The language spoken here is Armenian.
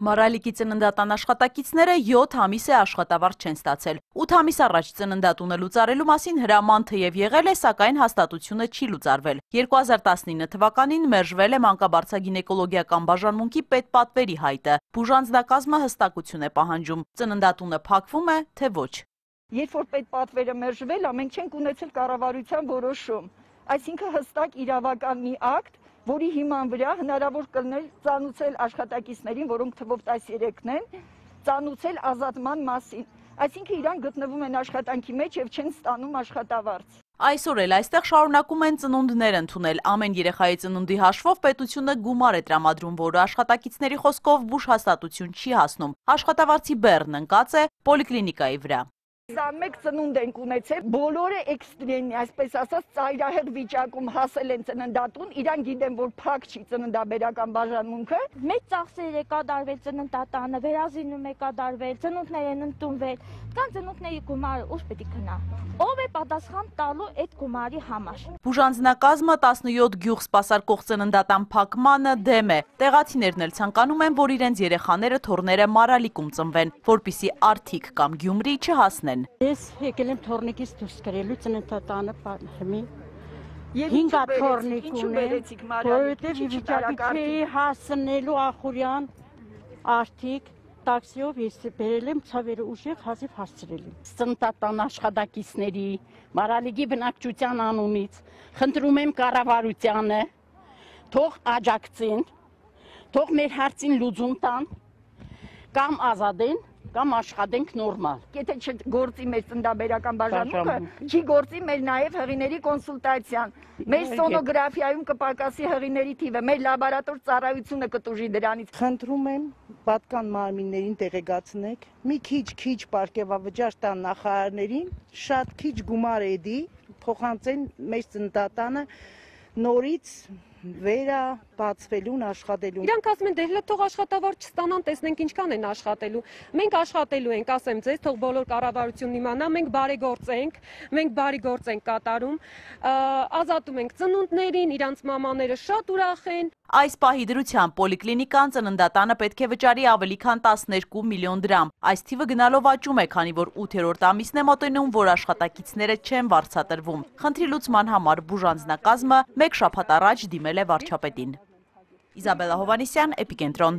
Մարալիկի ծննդատան աշխատակիցները 7 ամիս է աշխատավարձ չեն ստացել։ 8 ամիս առաջ ծննդատունը լուծարելու մասին հրաման թեև եղել է, սակայն հաստատությունը չի լուծարվել։ 2019 թվականին մերժվել է մանկաբարձագինեկոլոգիական բաժանմունքի պետպատվերի հայտը։ Բուժանձնակազմը հստակություն է պահանջում։ Ծննդատունը փակվում է, թե ոչ։ Երբ որ պետպատվերը մերժվել, մենք չենք ունեցել կառավարության որոշում։ Այսինքն հստակ իրավական մի ակտ, որի հիման վրա հնարավոր կլիներ ծանուցել աշխատակիցներին, որոնք թվով 13-ն են, ծանուցել ազատման մասին։ Այսինքն իրանք գտնվում են աշխատանքի մեջ եւ չեն ստանում աշխատավարձ։ Այսօր էլ այստեղ շարունակում են ծնունդներ ընդունել։ Ամեն երեխայի ծնունդի հաշվով պետությունը գումար է տրամադրում, որը աշխատակիցների խոսքով բուժհաստատություն չի հասնում։ Աշխատավարձի բեռն ընկած է պոլիկլինիկայի վրա։ 21 ծնունդ ենք ունեցել, բոլորը էքստրեն, այսպես ասած, ծայրահեղ վիճակում հասել են ծննդատուն, իրան գիտեն, որ փակ չի ծննդաբերական բաժանմունքը։ Մեծ ծախսեր է կատարվել ծննդատանը, վերազինում է կատարվել, ծնունդներ են ընդունվել, կան ծնունդների գումարը ուշ պետք է գնա։ Ով է պատասխան տալու այդ գումարի համար։ Բուժանձնակազմը 17 գյուղ սպասարկող ծննդատան փակմանը դեմ է։ Տեղացիներն էլ ցանկանում են, որ իրենց երեխաները թոռները Մարալիկում ծնվեն, որպիսի Արթիկ կամ Գյումրի չհասնեն։ Ես եկել եմ թորնիկից դուրս գրելու ծննդատանը պատմի։ Հինգ թորնիկ ունեցիք որովհետև վիճակի չի հասնելու Ախուրյան Արթիկ տաքսիով ես բերել եմ ցավերը ուժեղ հազիվ հասցրել եմ։ Ծննդատան աշխատակիցների Մարալիկի բնակչության անունից խնդրում եմ կառավարությանը թող աջակցեն, թող մեր հարցին լուծում տան կամ ազատեն կամ աշխատենք նորմալ։ Եթե չգործի մեր ծննդաբերական բաժանմունքը, չի գործի մեր նաև հղիների կոնսուլտացիան։ Մեր սոնոգրաֆիայում կպակասի հղիների թիվը, մեր լաբորատոր ծառայությունը կտուժի դրանից։ Խնդրում եմ պատկան մարմիններին տեղեկացնեք, մի քիչ պարգևավճար տան նախարարներին, շատ քիչ գումար էդի, փոխանցեն մեր ծննդատանը նորից վերաբացվելուն աշխատելուն։ Իրանք ասում են, դե թող աշխատավարձ չստանան, տեսնենք ինչքան են աշխատելու։ Մենք աշխատելու ենք, ասեմ ձեզ, թող բոլոր կառավարությունն իմանա, մենք բարի գործ ենք կատարում, ազատում ենք ծնունդներին, իրանց մամաները շատ ուրախ են։ Այս պահի դրությամբ պոլիկլինիկան ծննդատանը պետք է վճարի ավելի քան 12 միլիոն դրամ։ Այս թիվը գնալով աճում է, քանի որ 8-րդ ամիսն է մոտենում, որ աշխատակիցները չեն վարձատրվում։ Խնդրի լուծման համար բուժանձնակազմը մեկ շաբաթ առաջ դիմել է վարչապետին։ Իզաբելլա Հովհաննիսյան, Էպիկենտրոն։